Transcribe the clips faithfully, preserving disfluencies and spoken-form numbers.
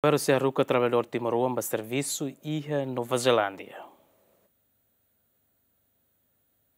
Governu sei haruka traballadór timoroan ba servisu iha Nova Zelándia.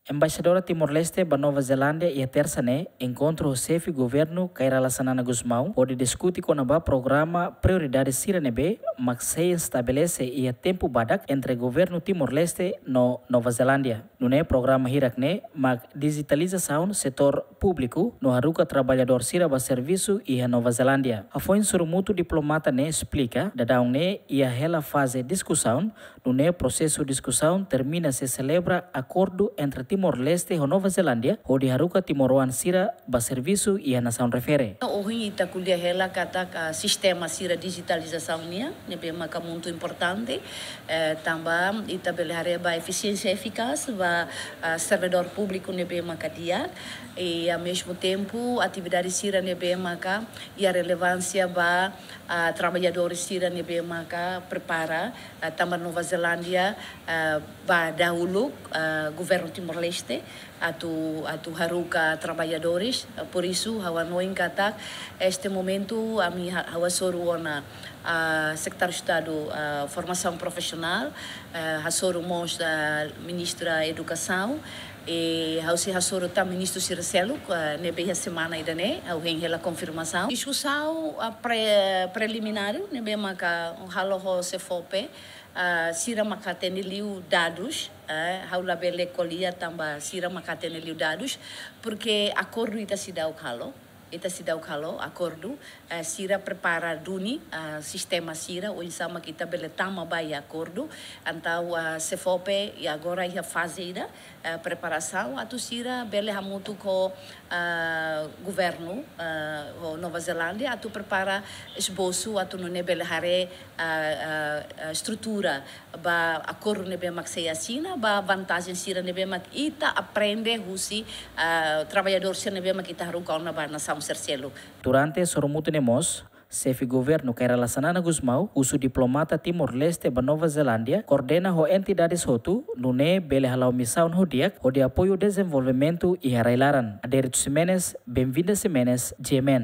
Embaixadora Timor-Leste ba Nova Zelándia iha Tersa ne'e enkontru ho xefe governu Kay Rala Xanana Gusmão, hodi diskute kona-ba programa prioridade sira ne'ebé mak sei estabelese iha tempu badak entre governu Timor-Leste no Nova Zelándia. Nune'e programa hirak ne'e mak dijitalizasaun setór públiku no haruka traballadór sira ba servisu iha Nova Zelándia. Hafoin sorumutu diplomata ne'e esplika, daudaun ne'e iha hela faze diskusaun, nune'e prosesu diskusaun termina sei selebra akordu entre Timor-Leste ho Nova Zelándia, hodi haruka timoroan sira ba servisu iha nasaun refere. Ohin ita ko'alia hela katak sistema sira dijitalizasaun nian, ne'ebé maka muito importante, eh, tanba ita bele haree ba efisiénsia efikás ba, ah, servidór públiku ne'ebé maka di'ak, i ao mesmo tempo atividade sira ne'ebé maka iha relevánsia ba, ah, traballadores sira ne'ebé maka prepara, ah, tanba Nova Zelándia, ah, ba dahuluk, ah, governu Timor-Leste atu, atu haruka traballadores. Ah, por isso, ha'u hanoin katak este momento ami ha-, ha'u hasoru ona, ah, Sekretáriu Estadu, ah, Formasaun Profisionál, ah, hasoru mós, ah, Ministra Edukasaun, i ha'u sei hasoru tan ministru sira seluk, ah, ne'ebé iha semana ida-ne'e ha'u hein hela konfirmasaun. Diskusaun, ah, pre-, preliminár ne'ebé maka halo ho SEFOPE, ah, sira maka hatene liu dadus, eh, ha'u labele ko'alia tanba sira maka hatene liu dadus, porque akordu ita seidauk halo, ita seidauk halo akordu, eh, sira prepara duni, ah, sistema sira, oinsá mak ita bele tama ba iha akordu, entaun, ah, SEFOPE, i agora iha faze ida, eh, preparasaun, atu sira bele hamutuk ho, ah, governu, ah, ho Nova Zelándia, atu prepara esbosu, atu nune'e bele haree, ah, ah, ah, estrutura ba akordu ne'ebé mak sei asina, ba vantajen sira ne'ebé mak ita aprende husi, ah, traballadór sira ne'ebé mak ita haruka ona ba nasaun sira seluk. Durante sorumutu ne'e mós, xefe governu Kay Rala Xanana Gusmão husu diplomata Timor-Leste ba Nova Zelándia koordena ho entidades hotu, nune'e bele hala'o misaun ho di'ak, hodi apoiu dezenvolvimentu iha rai-laran. Adérito Ximenes, Benvinda Ximenes, G M N.